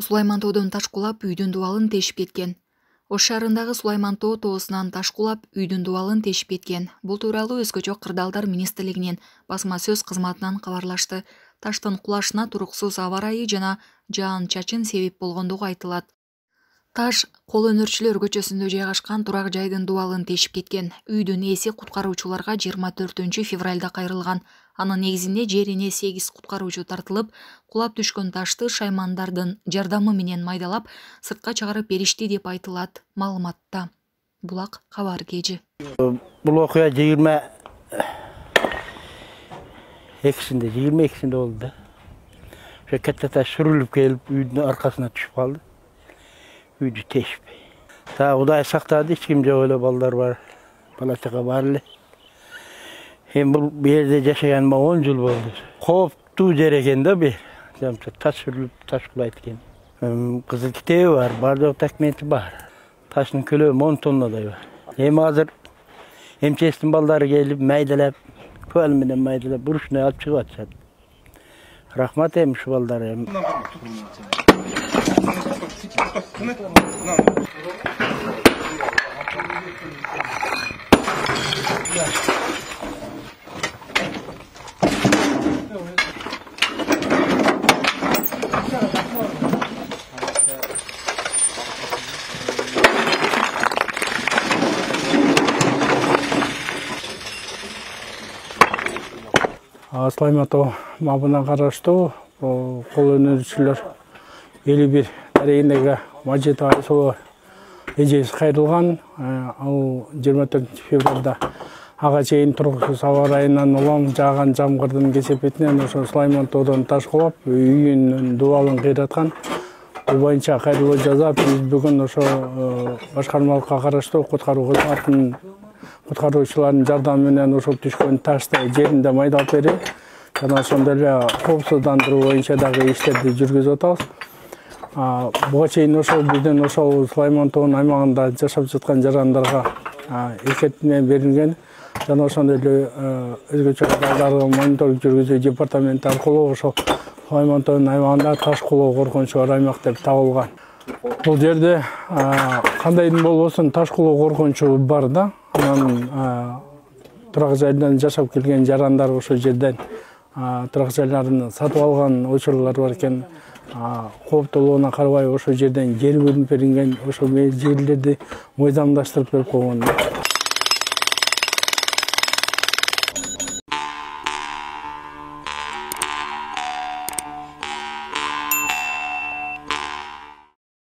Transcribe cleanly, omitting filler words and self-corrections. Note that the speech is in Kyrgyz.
Сулайман тоодон таш кулап үйдүн дубалын тешип кеткен. Ош шаарындагы Сулайман тоо тоосунан таш кулап үйдүн дубалын тешип кеткен. Бул тууралуу Өзгөчө кырдаалдар министрлигинин басма сөз кызматынан кабарлашты. Таштын кулашына туруксуз аба ырайы жана жаан-чачын себеп болгондугу айтылат. Таш Кол өнөрчүлөр көчөсүндө жайгашкан турак жайдын дубалын тешип кеткен. Үйдүн ээси куткаруучуларга 24 февралда кайрылган. Анын негизинде жерине 8 куткаруучу тартылып, кулап түшкөн ташты шаймандардын жардамы менен майдалап, сыртка чыгарып беришти деп айтылат маалыматта. Булак кабар кежи. Бул окуя 22-синде болду да. Ошо катта таш сүрүлүп келип, үйдүн аркасына түшүп калды. Үйдү тешип. Та Кудай сактады, эч ким жок эле, балдар бар. Бала чага бар эле. Бул жерде жашаганыма 10 жыл болду. Кооптуу жер экен да бу. Таш сүрүлүп, таш кулайт экен. Кызыл китеби бар, бардык документи бар. Таштын көлөмү 10 тоннадай бар. Азыр МЧСтин балдары келип, майдалап, көал менен майдалап, бурушуна алып чыгып атышат. Рахмат ушу балдары. Сулайман тоо мабына караштуу кол өнөрчүлөр 51 дарегиндеги Мажитов Айсулуу эжеси кайрылган. Ал 24 февралда ага чейин туруксуз аба ырайынан улам жааган жамгырдын кесепетинен ошо Сулайман тоодон таш кулап үйүнүн дубалын кыйраткан. Бул боюнча кайрылуу жазап, биз бүгүн ошо башкармалыкка караштуу куткаруу кызматынын куткаруучулардын жардамы менен ошол түшкөн ташты жеринде майдалап берип, жана ошондой эле коопсуздандыруу боюнча дагы иштерди жүргүзүп атабыз. Буга чейин ошол биздин ошол Сулайман тоонун аймагында жашап жаткан жарандарга эскертме берилген, жана ошондой эле өзгөчө кырдаалдарды мониторинг жүргүзүү департаменти аркылуу ошол Сулайман тоонун аймагында таш кулоо коркунучу бар аймак деп табылган. Бул жерде кандайдын болбосун таш кулоо коркунучу бар да. Анан турак жайдан жашап келген жарандар ошол жерден турак жайларын сатып алган учурлар бар экен. Кооптуулугуна карабай ошол жерден жер бөлүнүп берилген, ошол жерлерди мыйзамдаштырып берип койгон.